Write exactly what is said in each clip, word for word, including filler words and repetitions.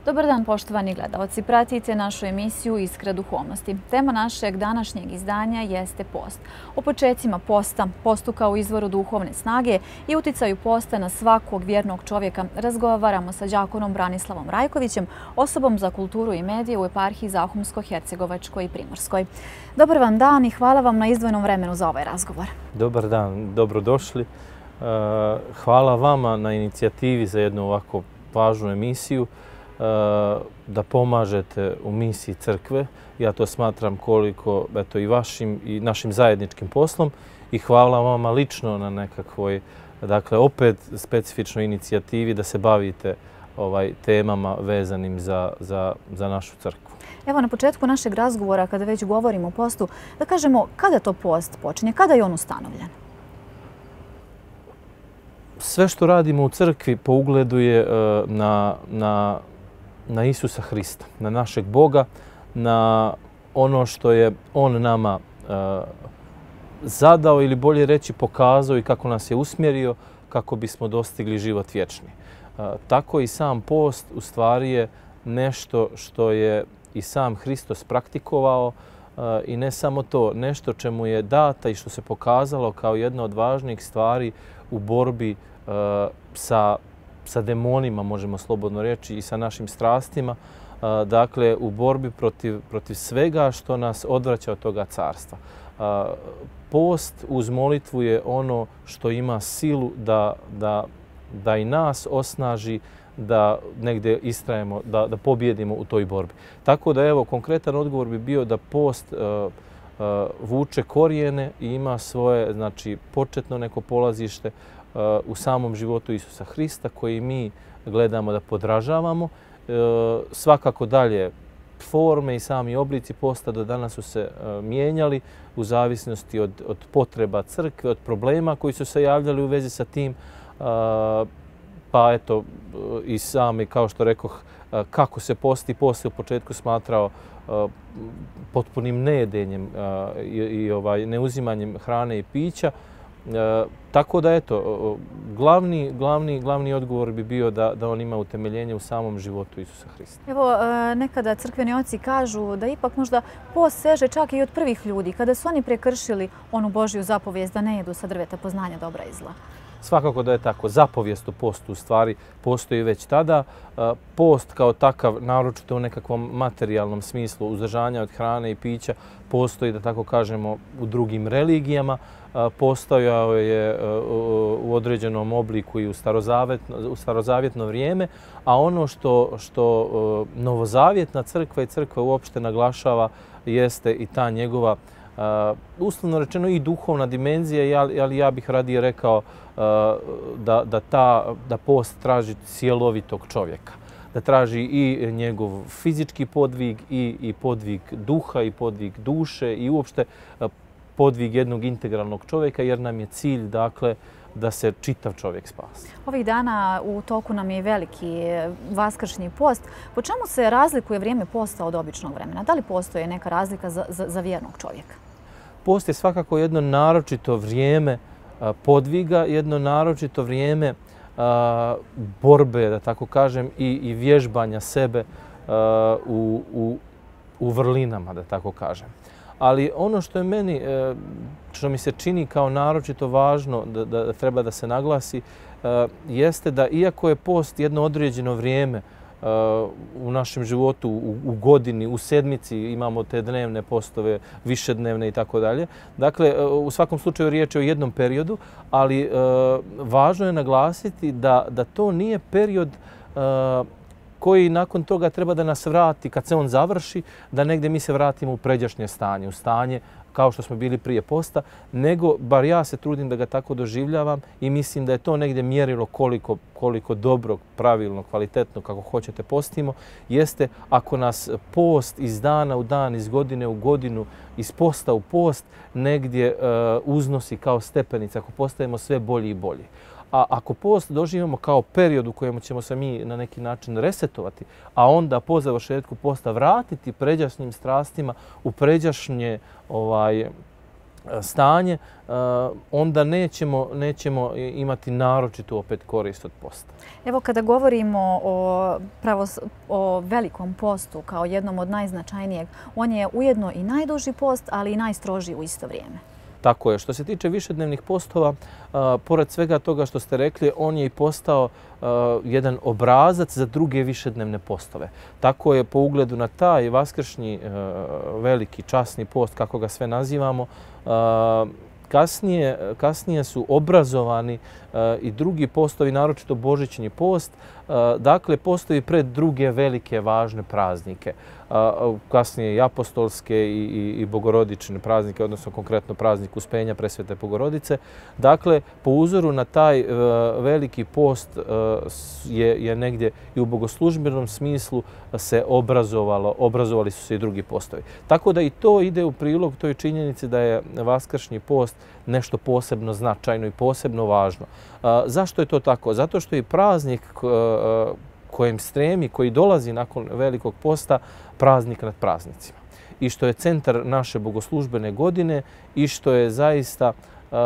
Dobar dan, poštovani gledalci. Pratite našu emisiju Iskra duhovnosti. Tema našeg današnjeg izdanja jeste post. O počecima posta, postu kao izvoru duhovne snage i uticaju posta na svakog vjernog čovjeka razgovaramo sa đakonom Branislavom Rajkovićem, osobom za kulturu i medije u eparhiji Zahumsko-Hercegovačkoj i Primorskoj. Dobar vam dan i hvala vam na izdvojenom vremenu za ovaj razgovor. Dobar dan, dobrodošli. Hvala vama na inicijativi za jednu ovako važnu emisiju, da pomažete u misiji crkve. Ja to smatram koliko eto, i vašim i našim zajedničkim poslom i hvala vama lično na nekakvoj, dakle, opet specifičnoj inicijativi da se bavite ovaj, temama vezanim za, za, za našu crkvu. Evo na početku našeg razgovora, kada već govorimo o postu, da kažemo kada to post počinje, kada je on ustanovljen? Sve što radimo u crkvi po ugledu je na, na na Isusa Hrista, na našeg Boga, na ono što je On nama e, zadao ili bolje reći pokazao i kako nas je usmjerio kako bismo dostigli život vječni. E, tako i sam post u stvari je nešto što je i sam Hristos praktikovao e, i ne samo to, nešto čemu je data i što se pokazalo kao jedna od važnijih stvari u borbi e, sa sa demonima, možemo slobodno reći, i sa našim strastima, dakle, u borbi protiv, protiv svega što nas odvraća od toga carstva. Post uz molitvu je ono što ima silu da, da, da i nas osnaži, da negdje istrajemo, da, da pobjedimo u toj borbi. Tako da, evo, konkretan odgovor bi bio da post uh, uh, vuče korijene i ima svoje, znači, početno neko polazište u samom životu Isusa Hrista koji mi gledamo da podražavamo. Svakako dalje forme i sami oblici posta do danas su se mijenjali u zavisnosti od, od potreba crkve, od problema koji su se javljali u vezi sa tim. Pa eto i sami, kao što rekoh, kako se posti, post se u početku smatrao potpunim nejedenjem i, i ovaj, neuzimanjem hrane i pića. E, tako da, eto, glavni, glavni, glavni odgovor bi bio da, da on ima utemeljenje u samom životu Isusa Hrista. Evo, nekada crkveni oci kažu da ipak možda post seže čak i od prvih ljudi, kada su oni prekršili onu Božju zapovijest da ne jedu sa drveta poznanja dobra i zla. Svakako da je tako. Zapovijest o postu u stvari postoji već tada. Post kao takav, naročito u nekakvom materijalnom smislu uzdržanja od hrane i pića, postoji, da tako kažemo, u drugim religijama. Postojao je u određenom obliku i u starozavjetno, u starozavjetno vrijeme, a ono što, što novozavjetna crkva i crkva uopšte naglašava jeste i ta njegova Uh, uslovno rečeno i duhovna dimenzija, ali ja bih radije rekao uh, da, da, ta, da post traži cjelovitog čovjeka. Da traži i njegov fizički podvig i, i podvig duha i podvig duše i uopšte uh, podvig jednog integralnog čovjeka, jer nam je cilj, dakle, da se čitav čovjek spasi. Ovih dana u toku nam je veliki vaskršnji post. Po čemu se razlikuje vrijeme posta od običnog vremena? Da li postoji neka razlika za, za, za vjernog čovjeka? Post je svakako jedno naročito vrijeme podviga, jedno naročito vrijeme borbe, da tako kažem, i, i vježbanja sebe u, u, u vrlinama, da tako kažem. Ali ono što je meni, što mi se čini kao naročito važno da, da treba da se naglasi, jeste da iako je post jedno određeno vrijeme u našem životu, u, u godini, u sedmici imamo te dnevne postove, višednevne i tako dalje. Dakle, u svakom slučaju riječ je o jednom periodu, ali važno je naglasiti da, da to nije period koji nakon toga treba da nas vrati, kad se on završi, da negdje mi se vratimo u pređašnje stanje, u stanje kao što smo bili prije posta, nego, bar ja se trudim da ga tako doživljavam i mislim da je to negdje mjerilo koliko, koliko dobrog, pravilno, kvalitetno, kako hoćete, postimo, jeste ako nas post iz dana u dan, iz godine u godinu, iz posta u post, negdje uh, uznosi kao stepenica, ako postajemo sve bolji i bolji. A ako post doživimo kao period u kojem ćemo se mi na neki način resetovati, a onda po završetku posta vratiti pređašnjim strastima u pređašnje ovaj, stanje, onda nećemo, nećemo imati naročitu opet korist od posta. Evo kada govorimo o, pravo, o velikom postu kao jednom od najznačajnijeg, on je ujedno i najduži post, ali i najstrožiji u isto vrijeme. Tako je. Što se tiče višednevnih postova, a, pored svega toga što ste rekli, on je i postao a, jedan obrazac za druge višednevne postove. Tako je po ugledu na taj vaskršnji a, veliki časni post, kako ga sve nazivamo, a, kasnije, kasnije su obrazovani a, i drugi postovi, naročito božićni post, a, dakle postoji pred druge velike važne praznike. Kasnije i apostolske i, i, i bogorodične praznike, odnosno konkretno praznik Uspenja Presvete Bogorodice. Dakle, po uzoru na taj uh, veliki post uh, je, je negdje i u bogoslužbenom smislu se obrazovalo, obrazovali su se i drugi postovi. Tako da i to ide u prilog toj činjenici da je vaskršnji post nešto posebno značajno i posebno važno. Uh, zašto je to tako? Zato što je praznik uh, kojem stremi, koji dolazi nakon velikog posta, praznik nad praznicima. I što je centar naše bogoslužbene godine i što je zaista uh,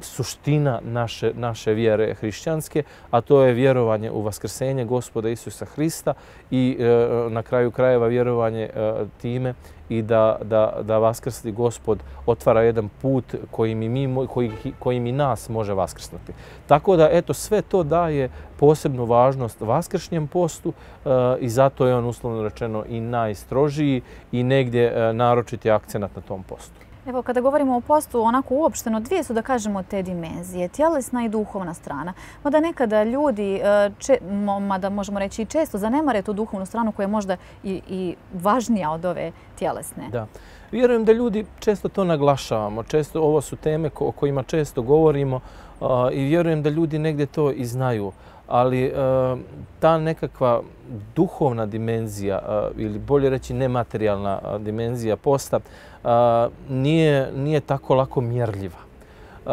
suština naše, naše vjere hrišćanske, a to je vjerovanje u vaskrsenje Gospoda Isusa Hrista i uh, na kraju krajeva vjerovanje uh, time i da, da, da vaskrsli Gospod otvara jedan put kojim i, mi, koji, kojim i nas može vaskrsnuti. Tako da, eto, sve to daje posebnu važnost vaskršnjem postu uh, i zato je on uslovno rečeno i najstrožiji i negdje uh, naročiti akcenat na tom postu. Evo, kada govorimo o postu, onako uopšteno, dvije su, da kažemo, te dimenzije, tjelesna i duhovna strana. Mada nekada ljudi, če, mada možemo reći i često, zanemare tu duhovnu stranu koja je možda i, i važnija od ove tjelesne. Da. Vjerujem da ljudi često to naglašavamo. Često, ovo su teme o kojima često govorimo uh, i vjerujem da ljudi negdje to i znaju. Ali uh, ta nekakva duhovna dimenzija uh, ili bolje reći nematerijalna uh, dimenzija posta uh, nije, nije tako lako mjerljiva. Uh,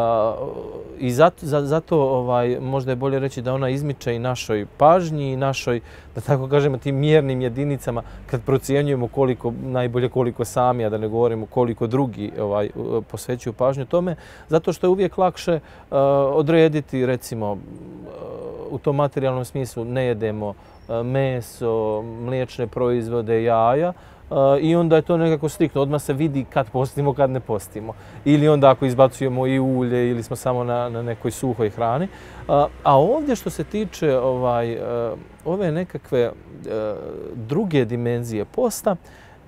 I zato, za, zato ovaj, možda je bolje reći da ona izmiče i našoj pažnji i našoj, da tako kažemo, tim mjernim jedinicama kad procjenjujemo koliko, najbolje koliko sami, a da ne govorimo koliko drugi ovaj, posvećuju pažnju tome, zato što je uvijek lakše uh, odrediti, recimo, uh, u tom materijalnom smislu ne jedemo uh, meso, mliječne proizvode, jaja, Uh, i onda je to nekako striktno. Odmah se vidi kad postimo, kad ne postimo. Ili onda ako izbacujemo i ulje ili smo samo na, na nekoj suhoj hrani. Uh, a ovdje što se tiče ovaj, uh, ove nekakve uh, druge dimenzije posta,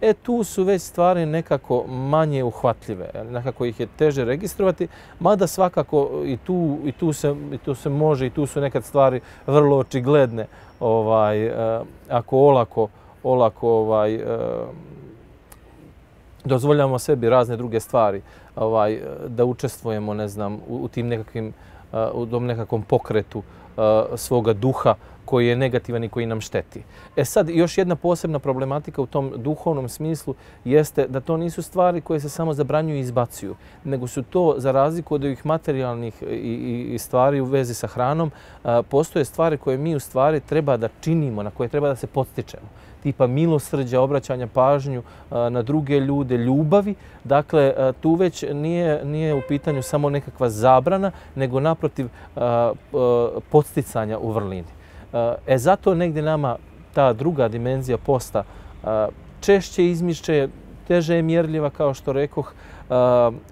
e tu su već stvari nekako manje uhvatljive. Nekako ih je teže registrovati, mada svakako i tu, i tu, se, i tu se može i tu su nekad stvari vrlo očigledne. Ovaj, uh, ako olako olako ovaj, e, dozvoljavamo sebi razne druge stvari, ovaj, da učestvujemo, ne znam, u, u tim nekakvim, u tom nekakvom pokretu uh, svoga duha koji je negativan i koji nam šteti. E sad, još jedna posebna problematika u tom duhovnom smislu jeste da to nisu stvari koje se samo zabranjuju i izbacuju, nego su to, za razliku od ovih materijalnih i, i, i stvari u vezi sa hranom, uh, postoje stvari koje mi u stvari treba da činimo, na koje treba da se podstičemo. Tipa milosrđa, obraćanja pažnju uh, na druge ljude, ljubavi. Dakle, uh, tu već nije, nije u pitanju samo nekakva zabrana, nego naprotiv uh, uh, podsticanja u vrlini. E zato negdje nama ta druga dimenzija posta češće izmišće, teže je mjerljiva, kao što rekoh.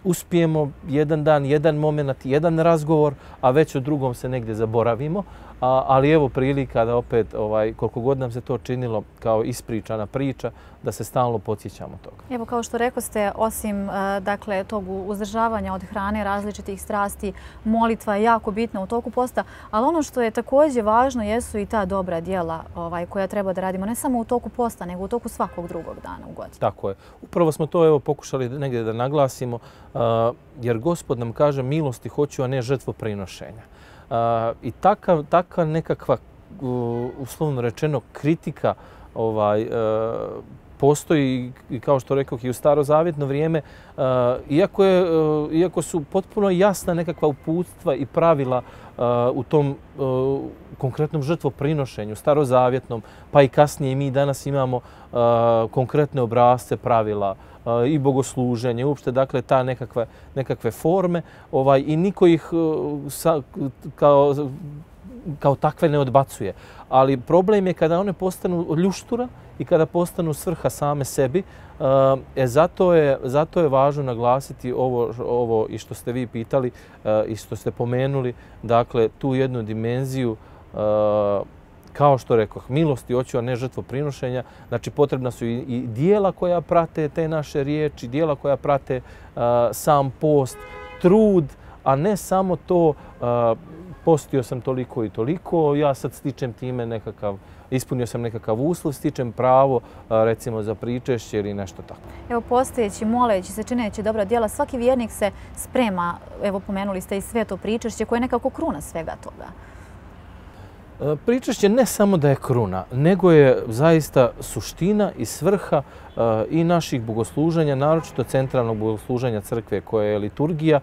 Uspijemo jedan dan, jedan moment, jedan razgovor, a već o drugom se negdje zaboravimo. ali evo prilika da opet, ovaj, koliko god nam se to činilo kao ispričana priča, da se stalno podsjećamo toga. Evo, kao što rekoste, osim dakle, tog uzdržavanja od hrane, različitih strasti, molitva je jako bitna u toku posta, ali ono što je također važno jesu i ta dobra djela ovaj, koja treba da radimo ne samo u toku posta, nego u toku svakog drugog dana u godini. Tako je. Upravo smo to evo pokušali negdje da naglasimo, uh, jer Gospod nam kaže milosti hoću, a ne žrtvoprinošenja. Uh, I taka, taka nekakva, uh, uslovno rečeno, kritika ovaj, uh, postoji, i kao što rekao, i u starozavjetno vrijeme, uh, iako, je, uh, iako su potpuno jasna nekakva uputstva i pravila uh, u tom uh, konkretnom žrtvoprinošenju, starozavjetnom, pa i kasnije mi danas imamo uh, konkretne obrasce pravila uh, i bogosluženje, uopšte dakle ta nekakve, nekakve forme ovaj, i niko ih uh, sa, kao, kao takve ne odbacuje. Ali problem je kada one postanu ljuštura i kada postanu svrha same sebi. E, zato, je, zato je važno naglasiti ovo, ovo i što ste vi pitali e, i što ste pomenuli, dakle tu jednu dimenziju, e, kao što rekoh, milosti hoću, a ne žrtvoprinošenja. Znači potrebna su i, i dijela koja prate te naše riječi, dijela koja prate e, sam post, trud, a ne samo to e, postio sam toliko i toliko, ja sad stičem time nekakav, ispunio sam nekakav uslov, stičem pravo recimo za pričešće ili nešto tako. Evo, postojeći, moleći se, čineći dobra djela, svaki vjernik se sprema, evo pomenuli ste i sveto pričešće koje je nekako kruna svega toga. Pričešće ne samo da je kruna, nego je zaista suština i svrha i naših bogosluženja, naročito centralnog bogosluženja crkve koje je liturgija.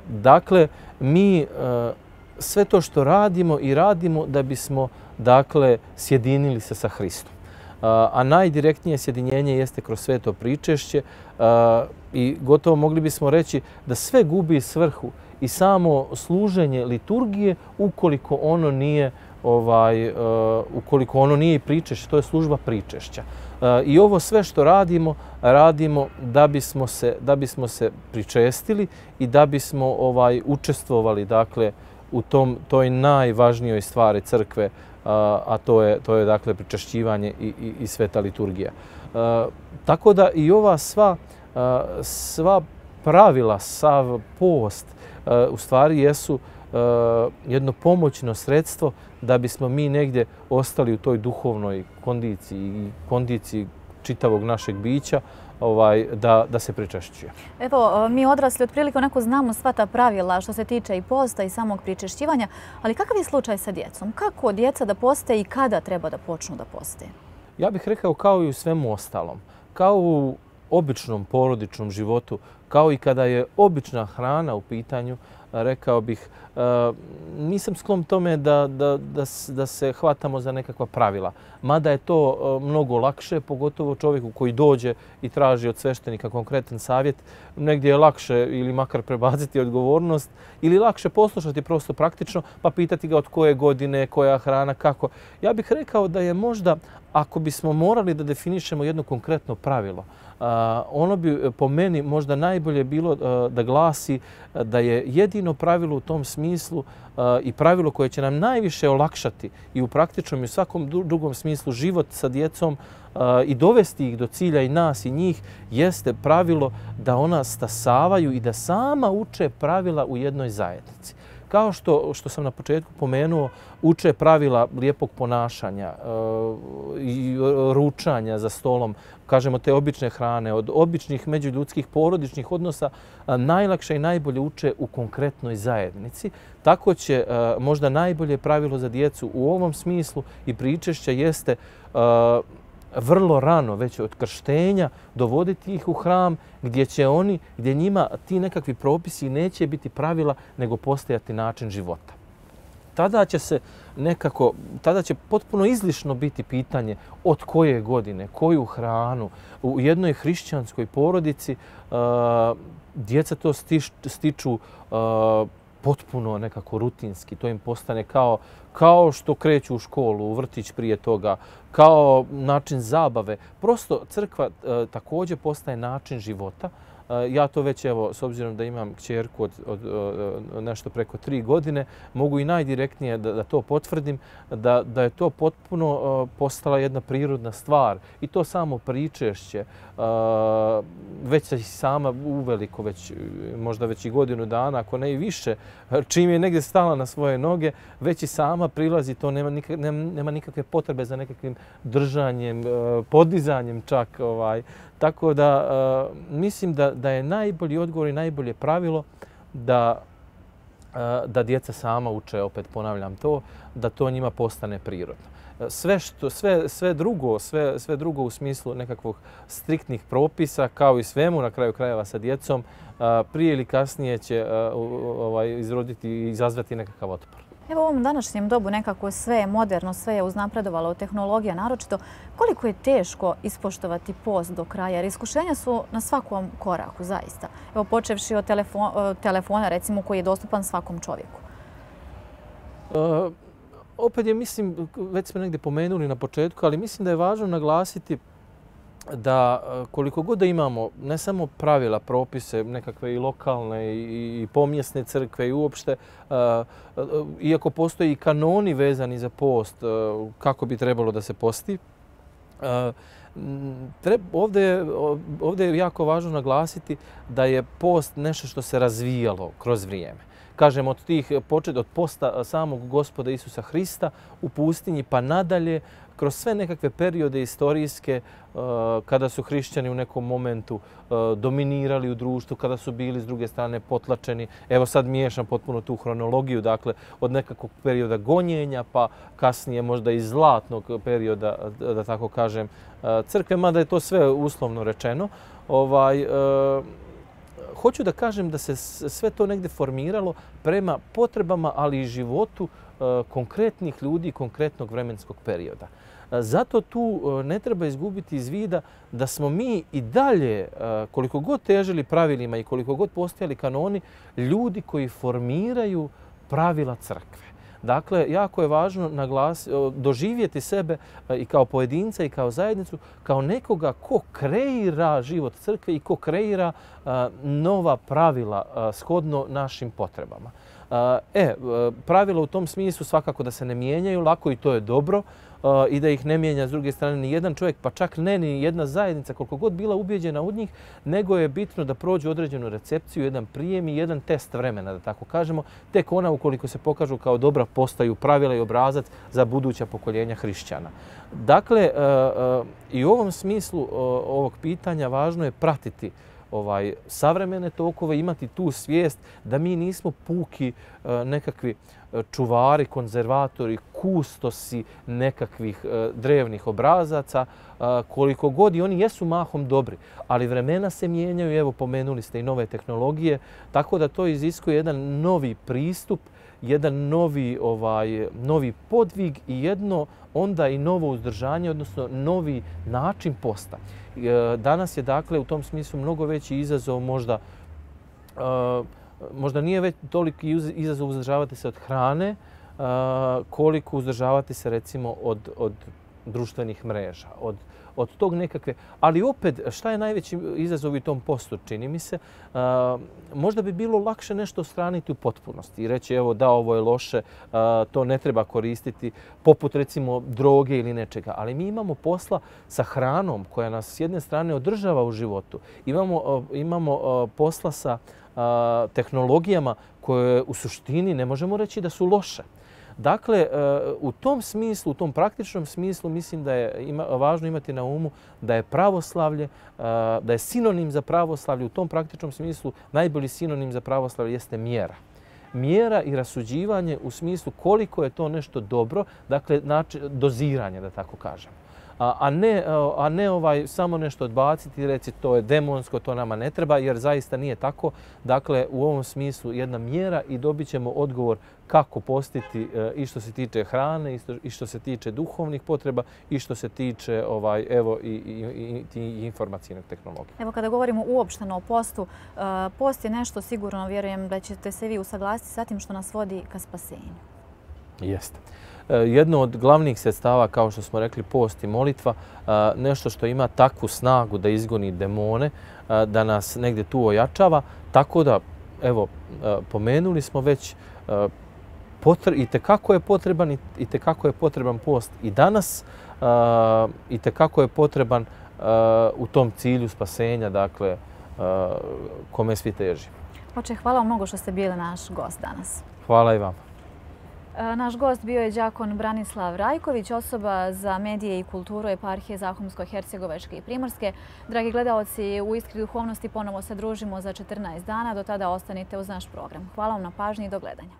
Dakle, mi sve to što radimo i radimo da bismo dakle sjedinili se sa Hristom. A najdirektnije sjedinjenje jeste kroz sveto pričešće i gotovo mogli bismo reći da sve gubi svrhu i samo služenje liturgije ukoliko ono nije ovaj uh, ukoliko ono nije pričešće, to je služba pričešća. Uh, I ovo sve što radimo, radimo da bismo se da bismo se pričestili i da bismo ovaj učestvovali dakle u tom toj najvažnijoj stvari crkve, uh, a to je to je dakle pričešćivanje i, i, i sveta liturgija. Uh, tako da i ova sva uh, sva pravila, sav post uh, u stvari jesu Uh, jedno pomoćno sredstvo da bismo mi negdje ostali u toj duhovnoj kondiciji i kondiciji čitavog našeg bića ovaj, da, da se pričešćuje. Evo, mi odrasli otprilike onako znamo sva ta pravila što se tiče i posta i samog pričešćivanja, ali kakav je slučaj sa djecom? Kako djeca da poste i kada treba da počnu da poste? Ja bih rekao kao i u svemu ostalom. Kao u običnom porodičnom životu, kao i kada je obična hrana u pitanju, rekao bih, nisam sklon tome da, da, da, da se hvatamo za nekakva pravila. Mada je to mnogo lakše, pogotovo čovjeku koji dođe i traži od sveštenika konkretan savjet, negdje je lakše ili makar prebaciti odgovornost ili lakše poslušati prosto praktično pa pitati ga od koje godine, koja hrana, kako. Ja bih rekao da je možda, ako bismo morali da definišemo jedno konkretno pravilo, Uh, ono bi po meni možda najbolje bilo uh, da glasi uh, da je jedino pravilo u tom smislu uh, i pravilo koje će nam najviše olakšati i u praktičnom i u svakom drugom smislu život sa djecom uh, i dovesti ih do cilja i nas i njih jeste pravilo da ona stasavaju i da sama uče pravila u jednoj zajednici. Kao što, što sam na početku pomenuo, uče pravila lijepog ponašanja uh, i ručanja za stolom, kažemo te obične hrane, od običnih međuljudskih porodičnih odnosa uh, najlakše i najbolje uče u konkretnoj zajednici. Tako će uh, možda najbolje pravilo za djecu u ovom smislu i pričešća jeste uh, vrlo rano, već od krštenja, dovoditi ih u hram gdje će oni, gdje njima ti nekakvi propisi neće biti pravila, nego postojati način života. Tada će se nekako, tada će potpuno izlišno biti pitanje od koje godine, koju hranu. U jednoj hrišćanskoj porodici uh, djeca to stiš, stiču uh, potpuno nekako rutinski. To im postane kao, kao što kreću u školu, u vrtić prije toga, kao način zabave. Prosto crkva e, također postaje način života e, Ja to već, evo, s obzirom da imam kćerku od, od, od nešto preko tri godine, mogu i najdirektnije da, da to potvrdim, da, da je to potpuno postala jedna prirodna stvar. I to samo pričešće, već se sama uveliko, već, možda već i godinu dana, ako ne i više, čim je negdje stala na svoje noge, već i sama prilazi, to nema, nikak, nema, nema nikakve potrebe za nekakvim držanjem, podizanjem čak. Ovaj. Tako da mislim da, da je najbolji odgovor i najbolje pravilo da, da djeca sama uče, opet ponavljam to, da to njima postane prirodno. Sve, što, sve, sve, drugo, sve, sve drugo u smislu nekakvog striktnih propisa, kao i svemu na kraju krajeva sa djecom, prije ili kasnije će ovaj, izroditi i izazvati nekakav otpor. Evo u ovom današnjem dobu nekako sve je moderno, sve je uznapredovalo, tehnologija naročito. Koliko je teško ispoštovati post do kraja? Jer iskušenja su na svakom koraku, zaista. Evo počevši od telefona, telefona recimo, koji je dostupan svakom čovjeku. Uh, opet je, mislim, već smo negdje pomenuli na početku, ali mislim da je važno naglasiti da koliko god da imamo ne samo pravila, propise, nekakve i lokalne i pomjesne crkve i uopšte, iako postoji i kanoni vezani za post, kako bi trebalo da se posti, ovdje je, ovdje je jako važno naglasiti da je post nešto što se razvijalo kroz vrijeme. Kažem, od tih počet, od posta samog Gospoda Isusa Hrista u pustinji pa nadalje, kroz sve nekakve periode istorijske, kada su hrišćani u nekom momentu dominirali u društvu, kada su bili s druge strane potlačeni. Evo sad miješam potpuno tu hronologiju, dakle od nekakvog perioda gonjenja pa kasnije možda i zlatnog perioda, da tako kažem, crkve, mada je to sve uslovno rečeno. Ovaj, hoću da kažem da se sve to negdje formiralo prema potrebama, ali i životu konkretnih ljudi, konkretnog vremenskog perioda. Zato tu ne treba izgubiti iz vida da smo mi i dalje, koliko god težili pravilima i koliko god postojali kanoni, ljudi koji formiraju pravila crkve. Dakle, jako je važno naglas, doživjeti sebe i kao pojedinca i kao zajednicu, kao nekoga ko kreira život crkve i ko kreira nova pravila shodno našim potrebama. E, pravila u tom smislu svakako da se ne mijenjaju, lako i to je dobro, i da ih ne mijenja s druge strane ni jedan čovjek, pa čak ne ni jedna zajednica, koliko god bila ubijeđena u njih, nego je bitno da prođu određenu recepciju, jedan prijem i jedan test vremena, da tako kažemo. Tek ona, ukoliko se pokažu kao dobra, postaju pravila i obrazac za buduća pokoljenja hrišćana. Dakle, i u ovom smislu ovog pitanja važno je pratiti ovaj, savremene tokove, imati tu svijest da mi nismo puki nekakvi čuvari, konzervatori, kustosi nekakvih drevnih obrazaca, koliko god i oni jesu mahom dobri. Ali vremena se mijenjaju, evo pomenuli ste i nove tehnologije, tako da to iziskuje jedan novi pristup, jedan novi, ovaj, novi podvig i jedno onda i novo uzdržanje, odnosno novi način posta. Danas je dakle u tom smislu mnogo veći izazov, možda, uh, možda nije već toliki izazov uzdržavati se od hrane, uh, koliko uzdržavati se recimo od, od društvenih mreža, od, od tog nekakve. Ali opet, šta je najveći izazov u tom postu, čini mi se, uh, možda bi bilo lakše nešto ostraniti u potpunosti i reći evo da, ovo je loše, uh, to ne treba koristiti, poput recimo droge ili nečega. Ali mi imamo posla sa hranom koja nas s jedne strane održava u životu. Imamo, uh, imamo uh, posla sa uh, tehnologijama koje u suštini ne možemo reći da su loše. Dakle, u tom smislu, u tom praktičnom smislu, mislim da je ima, važno imati na umu da je pravoslavlje, da je sinonim za pravoslavlje, u tom praktičnom smislu najbolji sinonim za pravoslavlje jeste mjera. Mjera i rasuđivanje u smislu koliko je to nešto dobro, dakle, znači, doziranje, da tako kažem. A ne, a ne ovaj, samo nešto odbaciti i reći to je demonsko, to nama ne treba, jer zaista nije tako. Dakle, u ovom smislu jedna mjera i dobit ćemo odgovor kako postiti i što se tiče hrane, i što se tiče duhovnih potreba, i što se tiče ovaj, evo, i, i, i, i informacijnog tehnologije. Evo, kada govorimo uopšteno o postu, post je nešto sigurno, vjerujem da ćete se vi usaglasiti sa tim što nas vodi ka spasenju. Jeste. jedno od glavnih sredstava, kao što smo rekli, post i molitva, nešto što ima takvu snagu da izgoni demone, da nas negdje tu ojačava. Tako da, evo, pomenuli smo već, i tekako je potreban i tekako je potreban post i danas, i tekako je potreban u tom cilju spasenja, dakle, kome svi teži. Oče, hvala vam mnogo što ste bili naš gost danas. Hvala i vama. Naš gost bio je đakon Branislav Rajković, osoba za medije i kulturu eparhije Zahumsko-Hercegovačke i Primorske. Dragi gledaoci, u Iskri duhovnosti ponovo se družimo za četrnaest dana. Do tada ostanite uz naš program. Hvala vam na pažnji i do gledanja.